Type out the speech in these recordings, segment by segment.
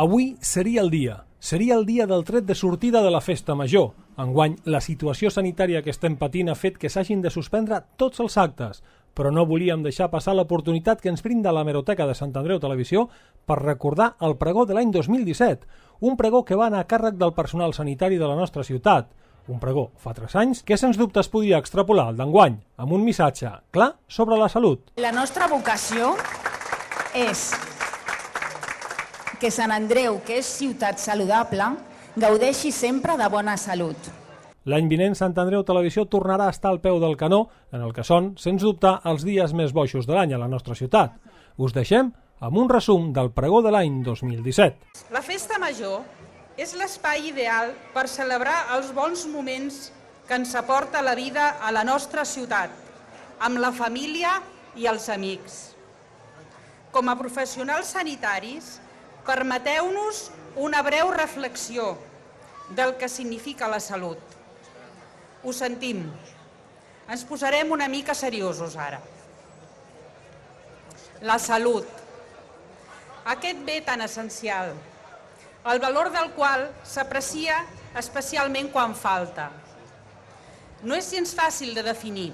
Avui seria el dia del tret de sortida de la festa major. Enguany, la situació sanitària que estem patint ha fet que s'hagin de suspendre tots els actes, però no volíem deixar passar l'oportunitat que ens brinda l'Hemeroteca de Sant Andreu Televisió per recordar el pregó de l'any 2017, un pregó que va anar a càrrec del personal sanitari de la nostra ciutat, un pregó fa 3 anys que sens dubte es podia extrapolar al d'enguany, amb un missatge clar sobre la salut. La nostra vocació és que Sant Andreu, que és ciutat saludable, gaudeixi sempre de bona salut. L'any vinent Sant Andreu Televisió tornarà a estar al peu del canó en el que són, sens dubte, els dies més boixos de l'any a la nostra ciutat. Us deixem amb un resum del pregó de l'any 2017. La festa major és l'espai ideal per celebrar els bons moments que ens aporta la vida a la nostra ciutat, amb la família i els amics. Com a professionals sanitaris, permeteu-nos una breu reflexió del que significa la salut. Ho sentim. Ens posarem una mica seriosos ara. La salut. Aquest bé tan essencial, el valor del qual s'aprecia especialment quan falta. No és gens fàcil de definir.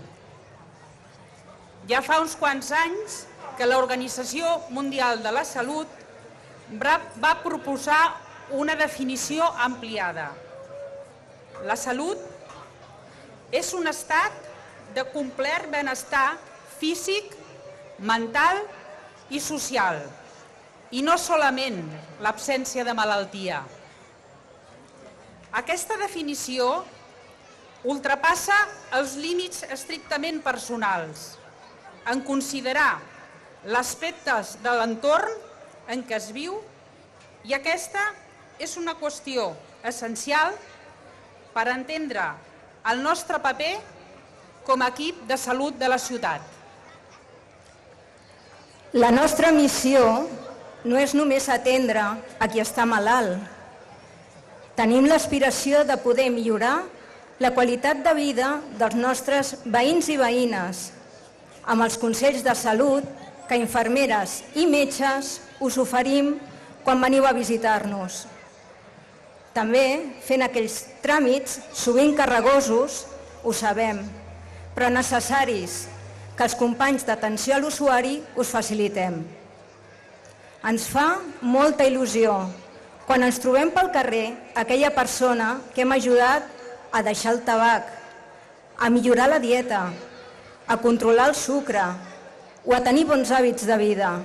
Ja fa uns quants anys que l'Organització Mundial de la Salut va proposar una definició ampliada. La salut és un estat de complet benestar físic, mental i social, i no solament l'absència de malaltia. Aquesta definició ultrapassa els límits estrictament personals, en considerar l'aspectes de l'entorn en què es viu, i aquesta és una qüestió essencial per entendre el nostre paper com a equip de salut de la ciutat. La nostra missió no és només atendre a qui està malalt. Tenim l'aspiració de poder millorar la qualitat de vida dels nostres veïns i veïnes, amb els consells de salut que infermeres i metges us oferim quan veniu a visitar-nos. També fent aquells tràmits, sovint carregosos, ho sabem, però necessaris, que els companys d'atenció a l'usuari us facilitem. Ens fa molta il·lusió quan ens trobem pel carrer aquella persona que hem ajudat a deixar el tabac, a millorar la dieta, a controlar el sucre o a tenir bons hàbits de vida.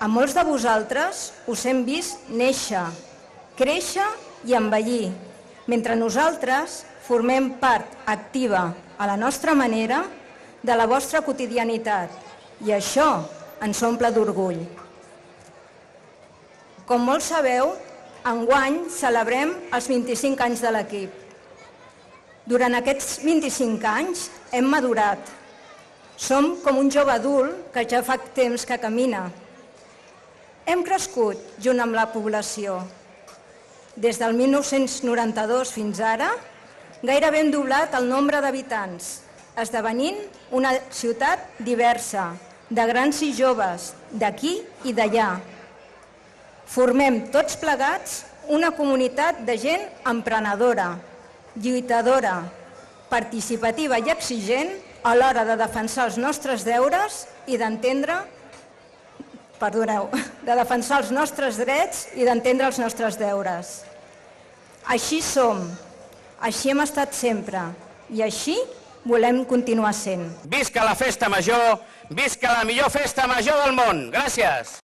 A molts de vosaltres us hem vist néixer, créixer i envellir, mentre nosaltres formem part activa, a la nostra manera, de la vostra quotidianitat, i això ens omple d'orgull. Com molts sabeu, enguany celebrem els 25 anys de l'equip. Durant aquests 25 anys hem madurat. Som com un jove adult que ja fa temps que camina. Hem crescut junt amb la població. Des del 1992 fins ara, gairebé hem doblat el nombre d'habitants, esdevenint una ciutat diversa, de grans i joves, d'aquí i d'allà. Formem tots plegats una comunitat de gent emprenedora, lluitadora, participativa i exigent a l'hora de defensar els nostres deures i de defensar els nostres drets i d'entendre els nostres deures. Així som, així hem estat sempre i així volem continuar sent. Visca la festa major, visca la millor festa major del món. Gràcies.